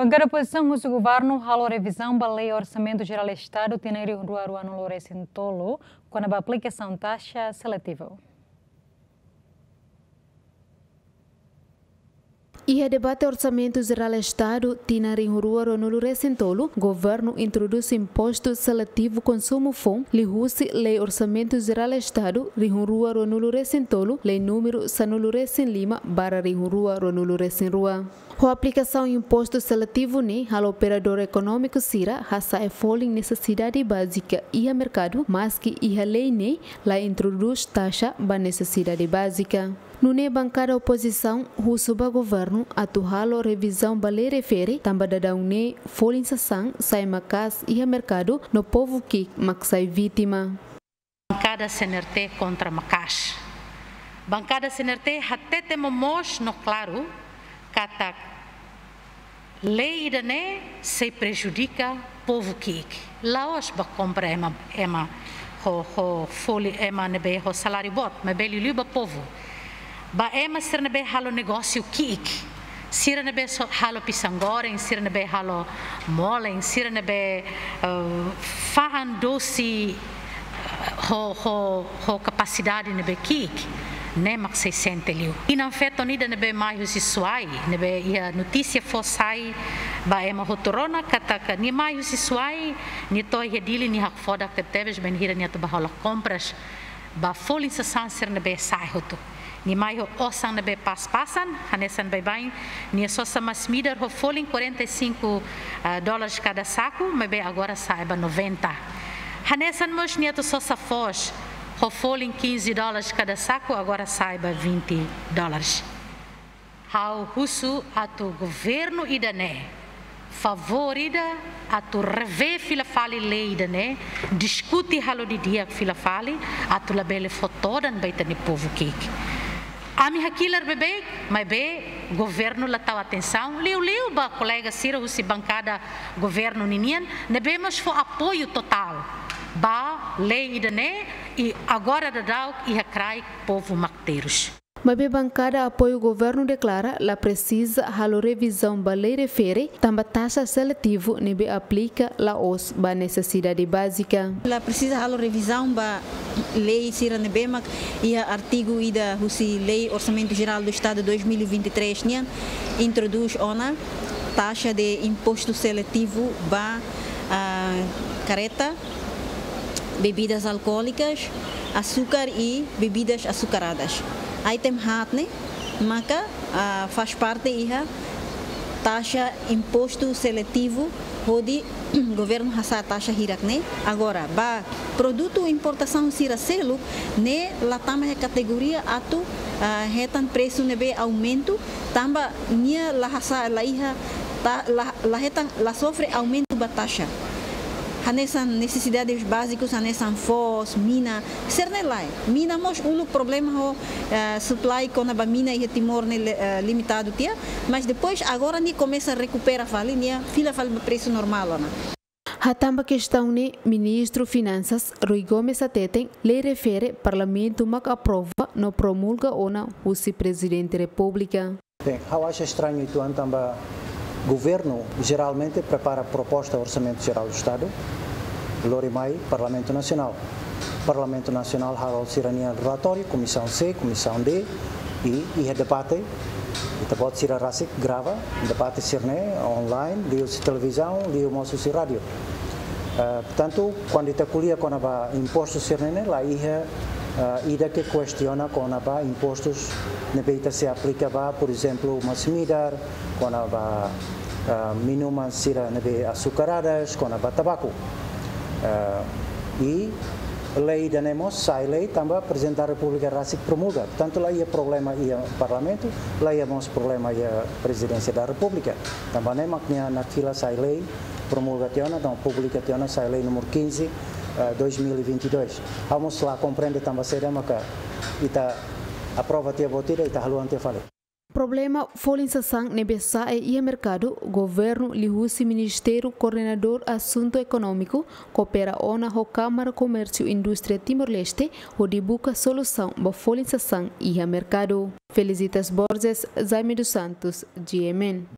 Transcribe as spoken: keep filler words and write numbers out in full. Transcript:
Bankada opozisaun husu governu halo revizaun ba Lei Orsamentu Jerál Estadu tinan rihun rua ruanulu resin tolu, kona-ba aplikasaun taxa seletivu. Iha debate Orsamentu Jerál Estadu tinan rihun rua ruanulu resin tolu, governu introdús impostu seletivu konsumu foun liuhusi Lei Orsamentu Jerál Estadu rihun rua ruanulu resin tolu, lei númeru sanulu resin lima barra rihun rua ruanulu resin rua. Ho aplikasaun impostu seletivu ne'e halo operadór ekonómiku sira hasa'e folin nesesidade bázika iha merkadu, maski iha lei ne'e la introdús taxa ba nesesidade bázika. Nune'e bankada opozisaun husu ba governu atu halo revizaun ba lei refere, tanba daudaun ne'e folin sasán sai maka'as iha merkadu no povu ki'ik mak sai vítima. Bankada C N R T kontra maka'as. Bankada C N R T hatete momoos no klaru katak lei ida-ne'e sei prejudika povu ki'ik. La'ós ba kompra ema, ema ho, ho folin, ema ne'ebé ho saláriu boot, maibé liuliu ba povu. Ba ema sira ne'ebé halo negósiu ki'ik, sira ne'ebé so-, halo pisang goreng, sira ne'ebé halo molen, sira ne'ebé, eh, fa'an dosi, eh, ho, ho, ho kapasidade ne'ebé ki'ik, ne'e mak sei sente liu. Inan-feton ida ne'ebé mai husi Suai, ne'ebé iha notísia foun sai ba ema hotu rona katak nia mai husi Suai, nia to'o iha Dili, nia hakfodak tebetebes, bainhira nia atu bá hola kompras ba folin sasán sira ne'ebé sa'e hotu. Nia mai ho osan ne'ebé pas-pasan, hanesan baibain nia sosa masin-midar ho folin quarenta e cinco, ah, dólares kada saku, maibé agora sa'e ba noventa. Hanesan mós nia atu sosa foos ho folin quinze dólares kada saku, agora sa'e ba vinte dólares. Ha'u husu atu governu ida-ne'e favór ida atu revee fila fali lei ida-ne'e, diskute halo didi'ak fila fali, atu labele fó todan ba ita-nia povu ki'ik. Ami hakilar beibeik, maibé governu la tau atensaun, liuliu ba kolega sira husi bankada governu ninian, ne'ebé mós fó apoiu totál ba lei ida-ne'e, i agora daudaun iha kraik povu mak terus. Maibé bankada apoiu governu deklara la presiza halo revizaun ba lei refere, tanba taxa seletivu ne'ebé aplika la'ós ba nesesidade bázika. La presiza halo revizaun ba lei sira ne'ebé mak iha artigu ida husi Lei Orsamentu Jerál do Estadu dois mil e vinte e três nian introdús ona taxa de impostu seletivu ba, ah, kareta, bebidas alcoólicas, açúcar e bebidas açucaradas. Item haat ne'e maka, ah, faz parte iha taxa impostu seletivu hodi governu hasa'e taxa hirak ne'e. Agora, ba produtu importasaun sira seluk ne'e la tama iha kategoria atu, ah, hetan presu ne'ebé aumentu, tanba nia la hasa'e, la iha ta-, la, la hetan, la sofre aumentu ba taxa. Hanesan nesesidades bázikus, hanesan foos, mina, sira-ne'e lae. Mina mós uluk problema ho, eh, supply kona-ba mina iha Timor ne'e le-, eh, limitadu tiha, mas depois agora nia komesa rekupera fali, nia fila fali ba presu normál ona. Hatán ba kestaun ne'e, Ministru Finansas Rui Gomes hateten, lei refere Parlamentu mak aprova no promulga ona husi Prezidente Repúblika. Bem, ha'u acha estranho uitoan tanba governu jeralmente prepara proposta Orsamentu Jerál do Estadu, lori mai Parlamentu Nasionál. Parlamentu Nasionál halo sira-nia relatóriu, Komisaun C, Komisaun D, i iha debate, ita-boot sira rasik grava debate sira-ne'e online, liuhusi televizaun, liu mós husi rádiu. Eh, portantu, kuandu ita ko'alia kona-ba impostu sira-ne'e, la iha, eh, ida ke kestiona kona-ba impostus ne'ebé ita sei aplika ba, por ezemplu, masin-midar, kona-ba, eh, minuman sira ne'ebé açucaradas, kona-ba tabaku. Eh, i lei ida-ne'e mós sai lei tanba Prezidente da Repúblika rasik promulga. Portantu, la iha problema iha Parlamentu, la iha mós problema iha Prezidénsia da Repúblika. Tanba ne'e mak nia nakfila sai lei, promulga tiha ona, entaun publika tiha ona, sai lei númeru quinze, eh, dois mil e vinte e dois. Ha'u mós la komprende tanba saida maka ita aprova tiha buat ida, ita haluha tiha fali. Problema folin sasán ne'ebé sa'e iha merkadu, governu liuhusi Ministériu Koordenadór Asuntu Ekonómiku koopera ona ho Kámara Komérsiu Indústria Timor-Leste hodi buka solusaun ba folin sasán iha merkadu. Felicitas Borges, Jaime dos Santos, G M N.